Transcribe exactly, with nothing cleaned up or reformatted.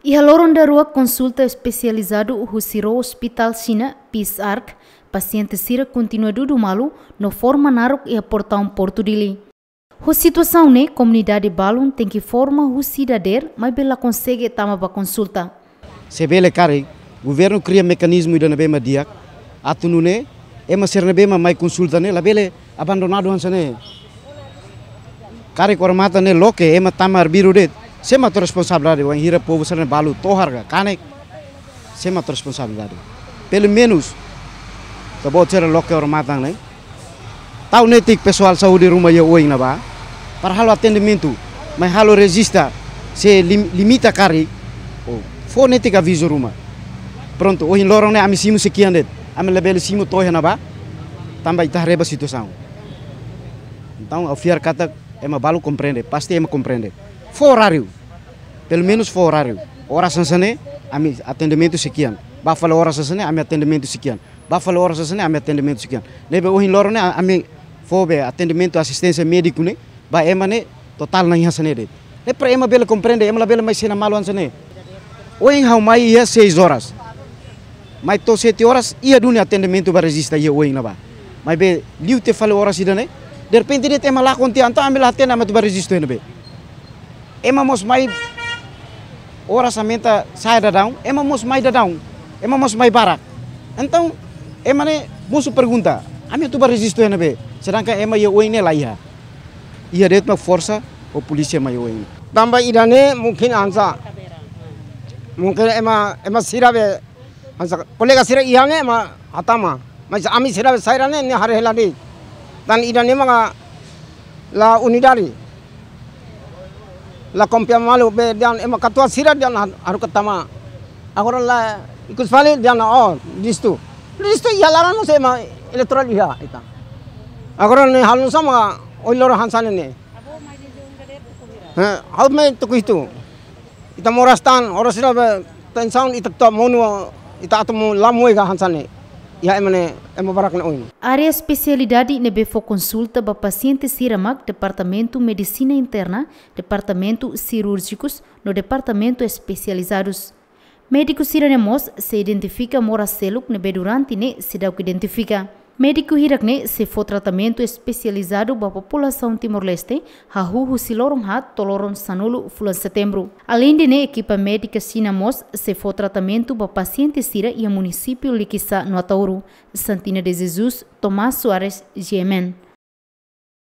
Iha loron daruak konsulta espesializadu husi ró ospitál Xina, Peace Ark, pasiente sira kontinua dudu malu no forma naruk iha portaun Portu Dili. Ho situasaun ne'e, komunidade balun tenke forma husi dadeer, maibé la konsege tama ba konsulta. Se bele karik, governu kria mekanizmu ida ne'ebé mak di'ak, atu nune'e ema sira ne'ebé mak mai konsulta ne'e labele abandonadu hanesan ne'e. Karik odamatan ne'e loke, ema tama arbiru de'it, sé mak atu responsabilidade, wainhira povu sira ne'e balu tohar ka kanek, sé mak atu responsabilidade. Pelumenus, ita-boot sira loke odamatan ne'e, tau netik pesoál saúde ruma iha oin ne'ebá, para halo atendimentu, mai halo rejista, se lim-, limita karik, ou fó netik avizu ruma. Prontu, ohin loron ne'e ami simu sei kian de'it, ami labele simu to'o iha ne'ebá, tanba ita haree ba situasaun. Entaun, ha'u fiar katak ema balu komprende, pasti ema komprende. Fó oráriu, pelumenus fó oráriu. Oras hanesan ne'e, ami atendimentu sei kian. Bá fali oras hanesan ne'e, ami atendimentu sei kian. Bá fali oras hanesan ne'e, ami atendimentu sei kian. Ne'ebé ohin loron ne'e, a-, ami fó be atendimentu asisténsia médiku ne'e ba ema ne'e totál na'in hanesan ne'e de'it. Ne'e para ema bele komprende, ema labele mai sena malu hanesan ne'e. Ohin ha'u mai iha seis horas. Mai to'o sete horas, iha duni atendimentu ba rejista iha oin ne'ebá. Maibé liu tiha fali oras ida-ne'e, derrepente de'it ema lakon tiha, entaun ami la hatene ami atu ba rejistu iha ne'ebé. Ema mós mai oras aumenta sai daudaun, ema mós mai daudaun, ema mós mai barak. Entaun, ema ne'e mosu pergunta, ami atu ba rejistu iha ne'ebé, sedangkan ema iha oin ne'e la iha. Iha de'it mak forsa ho polísia mai oin. Tanba ida-ne'e mungkin hanesan. Mungkin ema, ema sira be hanesan kolega sira iha ne'e mak hatama. Mas ami sira be saida ne'e, ne'e haree hela de'it. Tan ida-ne'e maka la unidade. La konfia malu be dehan ema katuas sira dehan ha-, haruka tama. Agora la ikus fali dehan, oh, rejistu. Rejistu iha laran mós ema eleitorál iha ita. Agora ne'e halo nusá mak ohin loron hanesan ne'e. Ha'u mai tuku hitu. Ita moras tan, oras sira be tensaun ita atu monu, ita atu monu la moe ka hanesan ne'e. Iha ema ne'e, ema barak ne'e oin. Área espesialidade ne'ebé fó konsulta ba pasiente sira mak Departamentu Medisina Interna, Departamentu Sirúrjikus, no Departamentu Espesializadus. Médiku sira-ne'e mós sei identifika moras seluk ne'ebé durante ne'e seidauk identifika. Médiku hirak-ne'e sei fó tratamentu espesializadu ba populasaun Timor-Leste, hahú husi loron haat to'o loron sanulu fulan Setembru. Aleinde ne'e, ekipa médika Xina mós sei fó tratamentu ba pasiente sira iha munisípiu Likisá no Ataúro. Santina de Jesus, Tomás Soares, G M N.